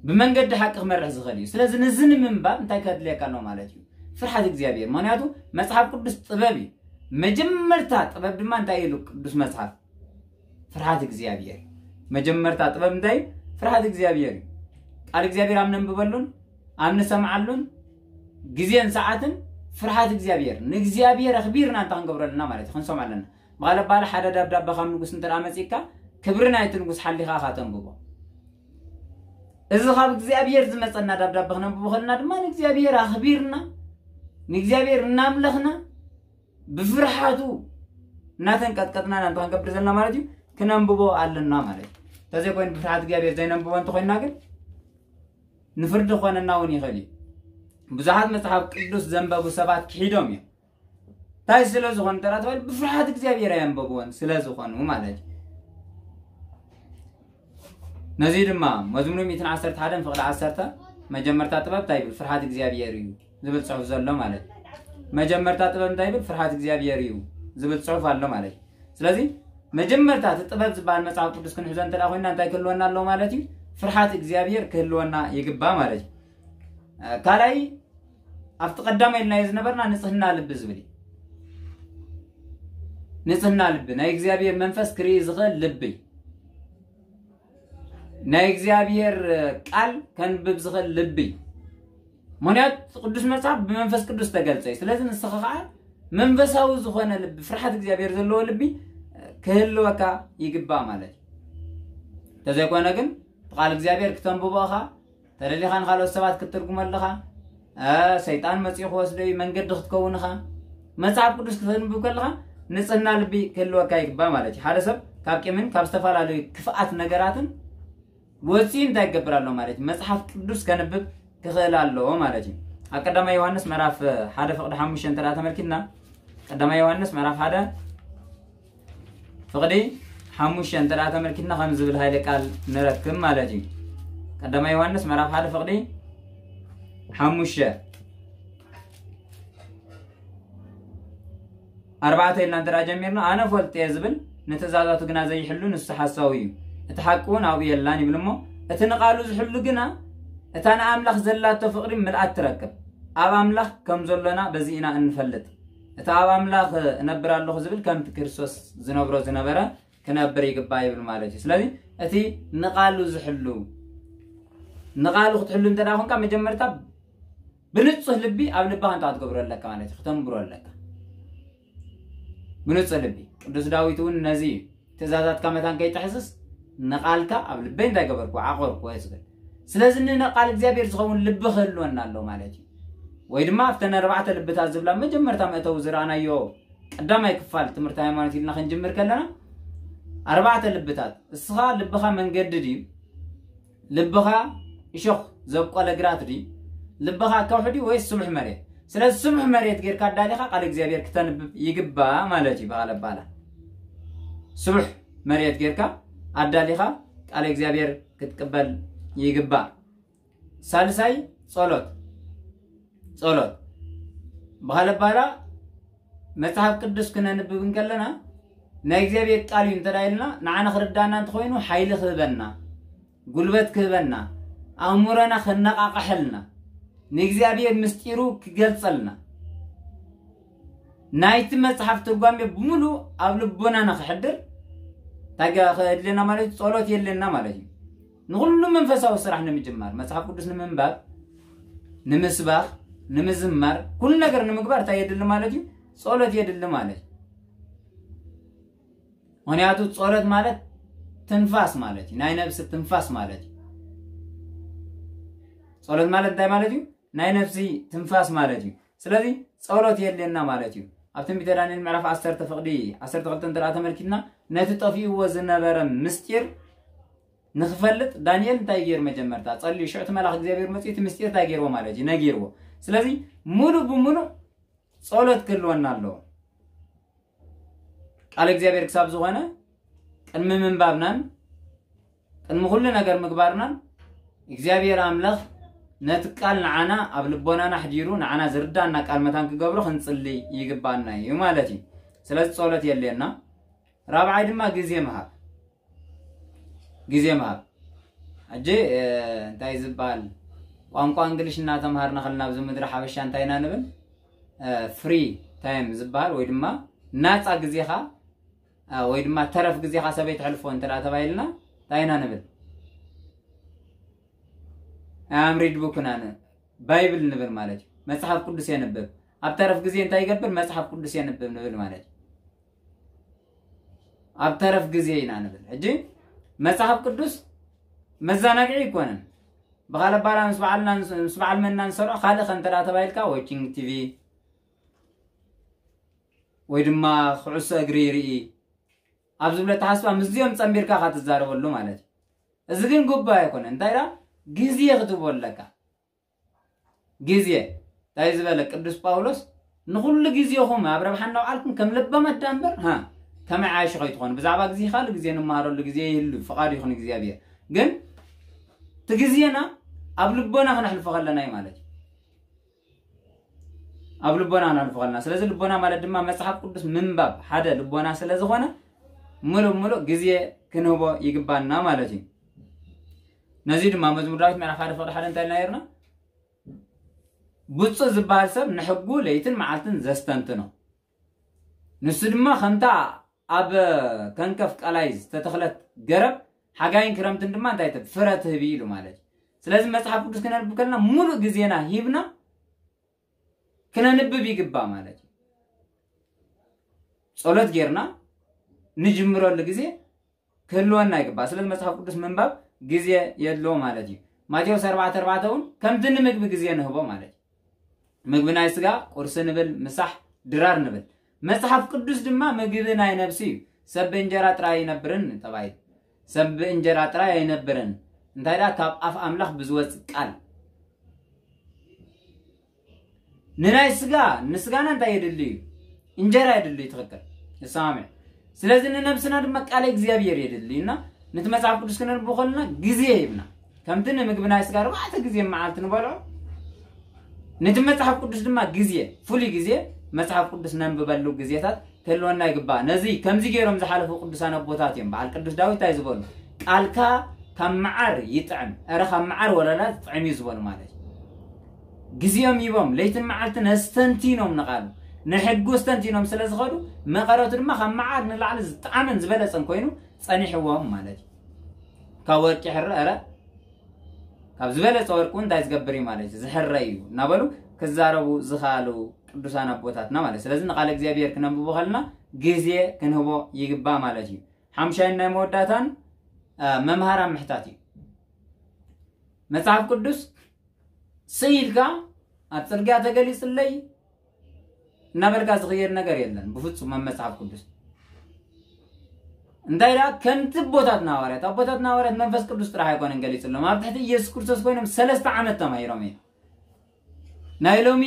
ብመንገዲ ሓቂ ክመርሕ ዝኽእል እዩ። ስለዚ ነዚ ንምንባብ እንታይ ከድልየካ ኣሎ ማለት እዩ? ፍርሓት እግዚኣብሔር። ምኽንያቱ መጽሓፍ ቅዱስ ጥበብ እዩ። መጀመርታ ጥበብ ድማ እንታይ ኢሉ ቅዱስ መጽሓፍ? ፍርሃት እግዚኣብሔር። መጀመርታ ጥበብ እንታይ እዩ? ፍርሃት እግዚኣብሔር እዩ። ቃል እግዚኣብሔር ኣብ ነንብበሉን ኣብ ንሰምዓሉን ግዜን ሰዓትን ፍርሃት እግዚኣብሔር፣ ንእግዚኣብሔር ኣኽቢርና እንታይ ክንገብሮ ኣለና ማለት እዩ? ክንሰምዖ ኣለና። ብቓል ኣባል ሓደ ደብዳበ ካብ ንጉስ እንተ ደኣ መጺእካ፣ ክብሪ ናይቲ ንጉስ ሓሊኻ ኢኻ ተንብቦ። እዚ ካብ እግዚኣብሔር ዝመጸና ደብዳበ ክነንብቦ ከለና ድማ ንእግዚኣብሔር ኣኽቢርና፣ ንእግዚኣብሔር እናምለኽና፣ ብፍርሓቱ እናተንቀጥቀጥና ኢና እንታይ ክንገብር ዘለና ማለት እዩ? ክነንብቦ ኣለና ማለት እዩ። እንተዘይኮይኑ ብፍርሓት እግዚኣብሔር ዘይነንብቦ እንተኾይንና ግን ንፍርዲ ክኾነና እውን ይኽእል እዩ። ብዙሓት መጽሓፍ ቅዱስ ዘንበቡ ሰባት ክሒዶም እዮም። እንታይ ስለ ዝኾኑ እንተ ተባሂሉ ብፍርሓት እግዚኣብሔር ኣየንበብዎን ስለ ዝኾኑ ማለት እዩ። ነዚ ድማ መዝሙር ሚእትን ዓሰርተ ሓደን ፍቕዲ ዓሰርተ መጀመርታ ጥበብ እንታይ ይብል? ፍርሃት እግዚኣብሔር እዩ ዝብል ጽሑፍ ዘሎ ማለት እዩ። መጀመርታ ጥበብ እንታይ ይብል? ፍርሃት እግዚኣብሔር እዩ ዝብል ጽሑፍ ኣሎ ማለት እዩ። ስለዚ መጀመርታ እቲ ጥበብ ዝበሃል መጽሓፍ ቅዱስ ክንሕዞ እንተ ደኣ ኮይንና እንታይ ክህልወና ኣለዎ ማለት እዩ? ፍርሃት እግዚኣብሔር ክህልወና ይግባእ ማለት እዩ። እ፣ ካልኣይ ኣብቲ ቀዳማይ ኢልናዮ ዝነበርና ንጽህና ልቢ ዝብል እዩ። ንጽህና ልቢ፣ ናይ እግዚኣብሔር መንፈስ ክርኢ ዝኽእል ልቢ፣ ናይ እግዚኣብሔር ቃል ከንብብ ዝኽእል ልቢ። ምኽንያቱ ቅዱስ መጽሓፍ ብመንፈስ ቅዱስ ተገልጸ እዩ። ስለዚ ንስኻ ኸዓ መንፈሳዊ ዝኾነ ልቢ፣ ፍርሓት እግዚኣብሔር ዘለዎ ልቢ ክህልወካ ይግባእ ማለት እዩ። እንተዘይኮነ ግን ብቃል እግዚኣብሔር ክተንብቦ ኢኻ፣ ተደሊኻ ንኻልኦት ሰባት ክትትርጉሞ ኣለኻ፣ እ፣ ሰይጣን መጺኡ ክወስዶ እዩ፣ መንገዲ ክትከውን ኢኻ። መጽሓፍ ቅዱስ ክተንብብ ከለኻ ንጽህና ልቢ ክህልወካ ይግባእ ማለት እዩ። ሓደ ሰብ ካብ ቂምን ካብ ዝተፈላለዩ ክፍኣት ነገራትን ወጺኡ እንታይ ክገብር ኣለዎ ማለት እዩ? መጽሓፍ ቅዱስ ከንብብ ክኽእል ኣለዎ ማለት እዩ። ኣብ ቀዳማይ ዮሃንስ ምዕራፍ ሓደ ፍቕዲ ሓሙሽተ እንተ ደኣ ተመልኪትና፣ ቀዳማይ ዮሃንስ ምዕራፍ ሓደ ፍቕዲ ሓሙሽተ እንተ ደኣ ተመልኪትና ከም ዝብል ሃይለ ቃል ንረክብ ማለት እዩ። ቀዳማይ ዮሃንስ ምዕራፍ ሓደ ፍቕዲ ሓሙሽተ ኣርባዕተ ኢልና እንተ ደኣ ጀሚርና፣ ኣነ ፈልጥ እየ ዝብል፣ ንትእዛዛቱ ግና ዘይሕሉ ንሱ ሓሳዊ እዩ፣ እቲ ሓቂ እውን ኣብኡ የላን ይብል እሞ፣ እቲ ንቓሉ ዝሕሉ ግና እታ ንኣምላኽ ዘላቶ ፍቕሪ ምልኣት ትረክብ። ኣብ ኣምላኽ ከም ዘሎና በዚ ኢና እንፈልጥ። እቲ ኣብ ኣምላኽ እነብር ኣለኹ ዝብል ከምቲ ክርስቶስ ዝነብሮ ዝነበረ ክነብር ይግባእ ይብል ማለት እዩ። ስለዚ እቲ ንቓሉ ዝሕሉ፣ ንቓሉ ክትሕሉ እንተ ደኣ ኮንካ፣ መጀመርታ ብንጹህ ልቢ ኣብ ልብኻ እንታይ ክትገብሮ ኣለካ ማለት እዩ፣ ክተንብሮ ኣለካ። ብንጹህ ልቢ። ቅዱስ ዳዊት እውን ነዚ እዩ፣ ትእዛዛትካ መታን ከይጥሕስስ ንቓልካ ኣብ ልበይ እንታይ ገበርኩ? ዓቆርኩ ዝብል። ስለዚ ንቃል እግዚኣብሔር ዝኸውን ልቢ ክህልወና ኣሎ ማለት እዩ። ወይ ድማ ኣብተን ኣርባዕተ ልብታት ዝብላ መጀመርታ መእተዊ ዝረኣናዮ ቀዳማይ ክፋል ትምህርቲ ሃይማኖት ኢልና ክንጅምር ከለና፣ ኣርባዕተ ልብታት፣ እስኻ ልብኻ መንገዲ ድዩ? ልብኻ እሾኽ ዘብቆለ ግራት ድዩ? ልብኻ ከውሒ ድዩ ወይስ ስቡሕ መሬት? ስለዚ ስቡሕ መሬት ጌርካ ኣዳሊኻ ቃል እግዚኣብሔር ክተንብብ ይግባእ ማለት እዩ። ብኻልእ ኣባህላ ስቡሕ መሬት ጌርካ ኣዳሊኻ ቃል እግዚኣብሔር ክትቅበል ይግባእ። ሳልሳይ ጸሎት። ጸሎት ብኻልእ ኣባህላ መጽሓፍ ቅዱስ ክነንብብ እንከለና ናይ እግዚኣብሔር ቃል እዩ እንተ ኢልና ንዓና ክርዳና እንተኾይኑ ሓይሊ ክህበና፣ ጉልበት ክህበና፣ ኣእምሮና ከነቃቕሐልና፣ ንእግዚኣብሔር ምስጢሩ ክገልጸልና፣ ናይቲ መጽሓፍ ትርጓሜ ብምሉእ ኣብ ልቦናና ክሕድር እንታይ የድልና ማለት እዩ? ጸሎት የድልና ማለት እዩ። ንኹሉ መንፈሳዊ ስራሕ ንምጅማር፣ መጽሓፍ ቅዱስ ንምንባብ፣ ንምስባኽ፣ ንምዝማር፣ ኩሉ ነገር ንምግባር እንታይ የድሊ ማለት እዩ? ጸሎት የድሊ ማለት እዩ። ምኽንያቱ ጸሎት ማለት ትንፋስ ማለት እዩ። ናይ ነብሲ ትንፋስ ማለት እዩ። ጸሎት ማለት እንታይ ማለት እዩ? ናይ ነፍሲ ትንፋስ ማለት እዩ። ስለዚ ጸሎት የድልየና ማለት እዩ። ኣብ ትንቢተ ዳንኤል ምዕራፍ ዓሰርተ ፍቕዲ ዓሰርተ ክልተ እንተ ደኣ ተመልኪትና፣ ነቲ ጠፊእዎ ዝነበረ ምስጢር ንኽፈልጥ ዳንኤል እንታይ ገይሩ? መጀመርታ ጸልዩ። ሽዑ እቲ መልኣኽ እግዚኣብሔር መጺኡ እቲ ምስጢር እንታይ ገይርዎ ማለት እዩ? ነጊርዎ። ስለዚ ሙሉእ ብሙሉእ ጸሎት ክህልወና ኣለዎ። ቃል እግዚኣብሔር ክሳብ ዝኾነ ቅድሚ ምንባብናን ቅድሚ ኩሉ ነገር ምግባርናን እግዚኣብሔር ኣምላኽ ነቲ ቃል ንዓና ኣብ ልቦናና ኣሕዲሩ ንዓና ዝርዳና ቃል መታን ክገብሮ ክንጽሊ ይግባና እዩ ማለት እዩ። ስለዚ ጸሎት የድልየና። ራብዓይ ድማ ግዜ ምሃብ። ግዜ ምሃብ። ሕጂ፣ እ፣ እንታይ ዝበሃል ቋንቋ እንግሊሽ እናተምሃርና ከለና ኣብዚ ምድሪ ሓበሻ እንታይ ኢና ንብል? እ፣ ፍሪ ታይም ዝበሃል ወይ ድማ ናጻ ግዜኻ፣ እ፣ ወይ ድማ ተረፍ ግዜኻ ሰበይ ተሕልፎ እንተ ደኣ ተባሂልና እንታይ ኢና ንብል? I am read book ኢና ን-፣ ባይብል ንብል ማለት እዩ። መጽሓፍ ቅዱስ የንብብ። ኣብ ተረፍ ግዜ እንታይ ይገብር? መጽሓፍ ቅዱስ የንብብ ንብል ማለት እዩ። ኣብ ተረፍ ግዜ ኢና ንብል። ሕጂ መጽሓፍ ቅዱስ መዘናግዒ ኣይኮነን። ብኻልእ ኣባህላ ምስ በዓልና ምስ በዓል መና ንሰርዖ ካልእ ከ እንተ ደኣ ተባሂልካ፣ ዋቺንግ ቲቪ ወይ ድማ ኩዕሶ እግሪ ይርኢ ኣብ ዝብለ ኣተሓሳስባ ምስዚኦም ጸንቢርካ ኢኻ ትዛረበሉ ማለት እዩ። እዚ ግን ግቡእ ኣይኮነን። እንታይ ደኣ ግዜ ክትህቦ ኣለካ። ግዜ እንታይ ዝበለ ቅዱስ ጳውሎስ፣ ንኹሉ ግዜኹም ኣብ ረብሓ እናውዓልኩም ከም ለባማት ደኣ እምበር፣ ሃ፣ ከም ዓያሹ ከይትኾኑ። ብዛዕባ ግዜ ካልእ ግዜ ንመሃረሉ ግዜ ይህሉ፣ ፍቓዱ ይኹን እግዚኣብሔር። ግን እቲ ግዜና ኣብ ልቦና ክነሕልፎ ከለና እዩ ማለት እዩ። ኣብ ልቦና ክነሕልፎ ከለና። ስለዚ ልቦና ማለት ድማ መጽሓፍ ቅዱስ ምንባብ ሓደ ልቦና ስለ ዝኾነ፣ ምሉእ ምሉእ ግዜ ክንህቦ ይግባና ማለት እዩ። ነዚ ድማ መዝሙር ዳዊት ምዕራፍ ሓደ ፍቕዲ ሓደ እንታይ ኢልና ነይርና? ብፁዕ ዝበሃል ሰብ ንሕጉ ለይትን መዓልትን ዘስተንትኖ። ንሱ ድማ ከምታ ኣብ ከንከፍ ቀላይ ዝተተኽለት ገረብ፣ ሓጋይን ክረምትን ድማ እንታይ ትብ-፣ ፍረ ትህብ ኢሉ ማለት እዩ። ስለዚ መጽሓፍ ቅዱስ ክነንብብ ከለና ሙሉእ ግዜና ሂብና ክነንብብ ይግባእ ማለት እዩ። ጸሎት ጌርና ንጅምረሉ ግዜ ክህልወና ይግባእ። ስለዚ መጽሓፍ ቅዱስ ምንባብ ግዜ የድልዎ ማለት እዩ። ማቴዎስ ኣርባዕተ ኣርባዕተ እውን ከምቲ ንምግቢ ግዜ ንህቦ ማለት እዩ። ምግቢ ናይ ስጋ ቁርሲ ንብል፣ ምሳሕ ድራር ንብል። መጽሓፍ ቅዱስ ድማ ምግቢ ናይ ነብሲ እዩ። ሰብ ብእንጀራ ጥራይ ኣይነብርን ተባሂሉ። ሰብ ብእንጀራ ጥራይ ኣይነብርን። እንታይ ደኣ ካብ ኣፍ ኣምላኽ ብዝወጽእ ቃል። ንናይ ስጋ፣ ንስጋና እንታይ የድሊ እዩ? እንጀራ የድልዩ። ትኽክል፣ ይሰማምዕ። ስለዚ ንነብስና ድማ ቃለ እግዚኣብሔር የድልዩ እና ነቲ መጽሓፍ ቅዱስ ክነንብብ ከለና ግዜ ይህብና። ከምቲ ንምግቢ ናይ ስጋ ኣርባዕተ ግዜ መዓልቲ ንበልዖ፣ ነቲ መጽሓፍ ቅዱስ ድማ ግዜ፣ ፍሉይ ግዜ መጽሓፍ ቅዱስ ነንብበሉ ግዜታት ክህልወና ይግባእ። ነዚ ከምዚ ገይሮም ዝሓለፉ ቅዱሳን ኣቦታት እዮም። በዓል ቅዱስ ዳዊት እንታይ ዝበሉ? "ቃልካ ካብ መዓር ይጥዕም፣ እረ ካብ መዓር ወለላ ትጥዕም" እዩ ዝበሉ ማለት እዩ። ግዜኦም ሂቦም ለይትን መዓልትን ኣስተንቲኖም ንቓሉ ንሕጉ ኣስተንቲኖም ስለ ዝኸዱ፣ መቐረቱ ድማ ካብ መዓር ንላዕሊ ዝጠዓመን ዝበለጸን ኮይኑ ጸኒሕዎም ማለት እዩ። ካብ ወርቂ ሕረ፣ እረ ካብ ዝበለጸ ወርቂ እውን እንታይ ዝገብር እዩ ማለት እዩ? ዝሕረ እዩ እናበሉ ክዛረቡ ዝኸኣሉ ቅዱሳን ኣቦታትና ማለት። ስለዚ ንቃለ እግዚኣብሔር ክነንብቦ ከለና ግዜ ክንህቦ ይግባእ ማለት እዩ። ሓምሻይን ናይ መወዳእታን፣ አ፣ መምሃራን ምሕታት እዩ። መጽሓፍ ቅዱስ ስኢልካ ኣብ ጽርግያ ተገሊጽለይ እናበልካ ዝኽየድ ነገር የለን ብፍጹም ኣብ መጽሓፍ ቅዱስ። እንታይ ደኣ ከምቲ ኣቦታትና ሃዋርያት፣ ኣቦታትና ሃዋርያት መንፈስ ቅዱስ ጥራሕ ኣይኮነን ገሊጽሎም፣ ኣብ ትሕቲ ኢየሱስ ክርስቶስ ኮይኖም ሰለስተ ዓመት ተማሂሮም እዮም። ናይ ሎሚ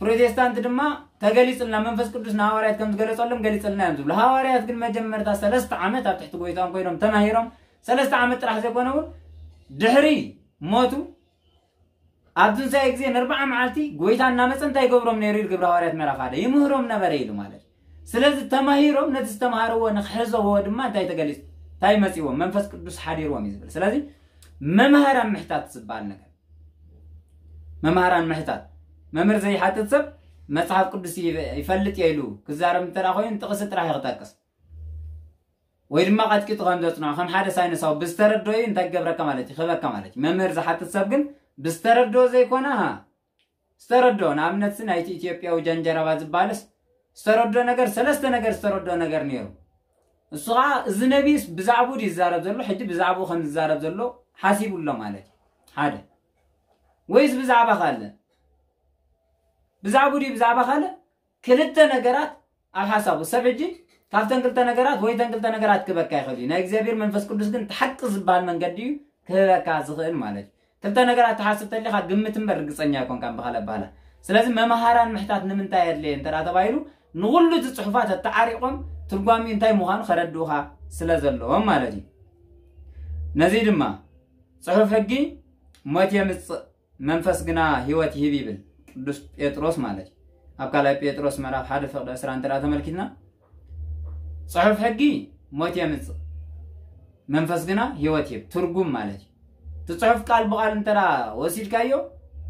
ፕሮቴስታንት ድማ ተገሊጽልና፣ መንፈስ ቅዱስ ንሃዋርያት ከም ዝገለጸሎም ገሊጽልና እዮም ዝብሉ። ሃዋርያት ግን መጀመርታ ሰለስተ ዓመት ኣብ ትሕቲ ጎይታኦም ኮይኖም ተማሂሮም፣ ሰለስተ ዓመት ጥራሕ ዘይኮነ እውን ድሕሪ ሞቱ ኣብ ትንሳኤ ግዜ ንኣርብዓ መዓልቲ ጎይታ እናመጸ እንታይ ይገብሮም ነይሩ ኢሉ ግብረ ሃዋርያት ምዕራፍ ሓደ ይምህሮም ነበረ ኢሉ ማለት እዩ። ስለዚ ተማሂሮም ነቲ ዝተምሃርዎ ንክሕዘዎ ድማ እንታይ ተገሊጽ እንታይ መጺዎም መንፈስ ቅዱስ ሓዲርዎም እዩ ዝብል። ስለዚ መምሃራን ምሕታት ዝበሃል ነገር መምሃራን ምሕታት መምህር ዘይሓትት ሰብ መጽሓፍ ቅዱስ ይፈ- ይፈልጥ እየ ኢሉ ክዛረብ እንተ ደኣ ኮይኑ ጥቕሲ ጥራሕ እዩ ክጠቅስ ወይ ድማ ቀጥቂጡ ከም ዘጽንዖ ከም ሓደ ሳይንሳዊ ብዝተረድኦ እዩ እንታይ ክገብረካ ማለት እዩ ክህበካ ማለት እዩ። መምህር ዝሓትት ሰብ ግን ብዝተረድኦ ዘይኮነ ሃ ዝተረድኦ ንኣብነት ሲ ናይቲ ኢትዮጵያዊ ጀንጀረባ ዝበሃልስ ዝተረድኦ ነገር ሰለስተ ነገር ዝተረድኦ ነገር ነይሩ። እሱ ከዓ እዚ ነቢይስ ብዛዕባኡ ድዩ ዝዛረብ ዘሎ ሕጂ ብዛዕባኡ ከም ዝዛረብ ዘሎ ሓሲቡ ኣሎ ማለት እዩ። ሓደ ወይስ ብዛዕባ ካልእ ብዛዕባኡ ድዩ ብዛዕባ ካልእ ክልተ ነገራት ኣብ ሓሳቡ ሰብ ሕጂ ካብተን ክልተ ነገራት ወይ ተን ክልተ ነገራት ክበካ ይኽእል እዩ። ናይ እግዚኣብሔር መንፈስ ቅዱስ ግን እቲ ሓቂ ዝበሃል መንገዲ እዩ ክህበካ ዝኽእል ማለት እዩ። ክልተ ነገራት ትሓስብ ተሊኻ ግምት እምበር ርግፀኛ ኣይኮንካን ብኻልእ ኣባህላ። ስለዚ መምሃራን ምሕታት ንምንታይ ኣድለየ እንተ ደኣ ተባሂሉ ንኹሉ እቲ ፅሑፋት ኣተዓሪቖም ትርጓሚኡ እንታይ ምዃኑ ከረድኡኻ ስለ ዘለዎም ማለት እዩ። ነዚ ድማ ፅሑፍ ሕጊ ሞት የምፅእ መንፈስ ግና ህይወት ይህብ ይብል ቅዱስ ጴጥሮስ ማለት እዩ። ኣብ ካልኣይ ጴጥሮስ ምዕራፍ ሓደ ፍቕዲ ዕስራ እንተ ደኣ ተመልኪትና ጽሑፍ ሕጊ ሞት የምጽእ መንፈስ ግና ህይወት ይህብ ትርጉም ማለት እዩ። እቲ ጽሑፍ ቃል ብቃል እንተ ደኣ ወሲድካዮ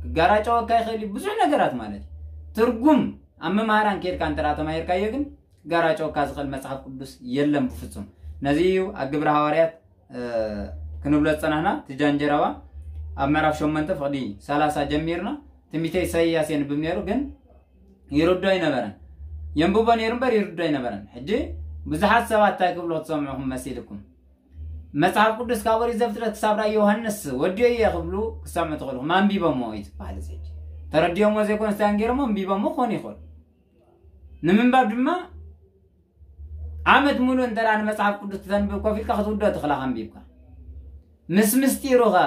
ክጋራጨወካ ይኽእል እዩ ብዙሕ ነገራት ማለት እዩ። ትርጉም ኣብ መምሃራን ኬድካ እንተ ደኣ ተማሂርካዮ ግን ክጋራጨወካ ዝኽእል መጽሓፍ ቅዱስ የለን ብፍጹም። ነዚ እዩ ኣብ ግብረ ሃዋርያት ክንብሎ ዝጸናሕና እቲ ጃንጀረባ ኣብ ምዕራፍ ሸሞንተ ፍቕዲ ሰላሳ ጀሚርና ትንቢተ ኢሳይያስ የንብብ ነይሩ ግን ይርዶ ኣይነበረን። የንብቦ ነይሩ እምበር ይርዶ ኣይነበረን። ሕጂ ብዙሓት ሰባት እንታይ ክብሉ ክትሰምዑኹም መሲልኩም መጽሓፍ ቅዱስ ካብ ወሪት ዘፍጥረት ክሳብ ራእይ ዮሃንስ ወዲዮ እየ ክብሉ ክሰምዑ ትኽእልኹም። ኣንቢቦሞ እዩ ዝበሃል እዚ ሕጂ ተረዲኦሞ ዘይኮነ ስታያን ገይሮሞ ኣንቢቦሞ ክኾኑ ይኽእሉ። ንምንባብ ድማ ዓመት ሙሉእ እንተ ደኣ ንመጽሓፍ ቅዱስ ክተንብብ ኮፍ ኢልካ ክትውድኦ ትኽእል ኣንቢብካ ምስ ምስጢሩ ኸ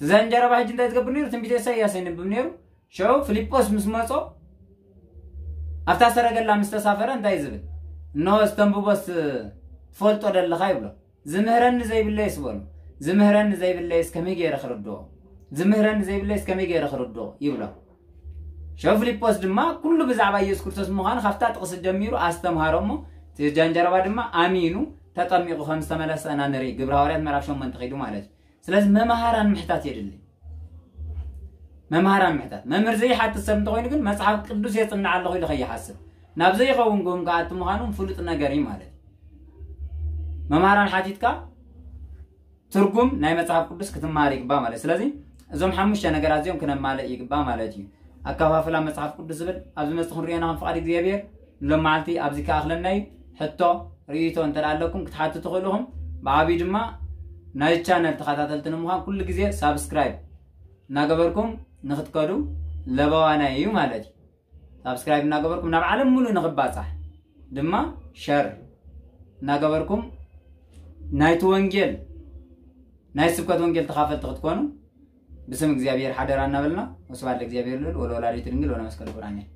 ትዘንጀረባ ሕጂ እንታይ ዝገብር ነይሩ ትንቢተ ኢሳይያስ የንብብ ነይሩ። ሽዑ ፊልጶስ ምስ መጾ ኣብታ ሰረገላ ምስ ተሳፈረ እንታይ ዝብል እንሆ ዝተንብቦስ ትፈልጦ ደለኻ ይብሎ። ዝምህረኒ ዘይብለይስ በሉ ዝምህረኒ ዘይብለይስ ከመይ ገይረ ክርድኦ ዝምህረኒ ዘይብለይስ ከመይ ገይረ ክርድኦ ይብሎ። ሸው ፊልጶስ ድማ ኩሉ ብዛዕባ ኢየሱስ ክርስቶስ ምዃኑ ካብታ ጥቕሲ ጀሚሩ ኣስተምሃሮ እሞ እቲ ጃንጀረባ ድማ ኣሚኑ ተጠሚቑ ከም ዝተመለሰ ኢና ንርኢ። ግብረ ሃዋርያት ምዕራፍ ሸሞንተ ከይዱ ማለት እዩ። ስለዚ መምሃራን ምሕታት የድሊ። መምሃራን ምሕታት መምህር ዘይሓትት ሰብ እንተኮይኑ ግን መጽሓፍ ቅዱስ የጽንዕ ኣለኹ ኢሉ ከይሓስብ ናብ ዘይኸውን ግሁም ከኣቲ ምዃኑ ፍሉጥ ነገር እዩ ማለት እዩ። መምሃራን ሓቲትካ ትርጉም ናይ መጽሓፍ ቅዱስ ክትመሃር ይግባእ ማለት እዩ። ስለዚ እዞም ሓሙሽተ ነገራት እዚኦም ክነማልእ ይግባእ ማለት እዩ። ኣከፋፍላ መጽሓፍ ቅዱስ ዝብል ኣብ ዝመጽእ ክንሪኦ ኢና ከም ፍቓድ እግዚኣብሔር። ንሎም መዓልቲ ኣብዚ ከኣኽለና እዩ። ሕቶ ርእይቶ እንተ ደኣ ኣለኩም ክትሓቱ ትኽእሉ ኢኹም። ብዓብዩ ድማ ናይ ቻነል ተኸታተልቲ ንምዃን ኩሉ ግዜ ሳብስክራይብ እናገበርኩም ንክትከዱ ለበዋና እዩ ማለት እዩ። ሳብስክራይብ እናገበርኩም ናብ ዓለም ሙሉእ ንክባጻሕ ድማ ሸር እናገበርኩም ናይቲ ወንጌል ናይ ስብከት ወንጌል ተኻፈልቲ ክትኮኑ ብስም እግዚኣብሔር ሓደራ እናበልና ወስብሐት ለእግዚኣብሔር ልዑል ወለወላዲቱ ድንግል ወለመስቀሉ ክቡር ኣሜን።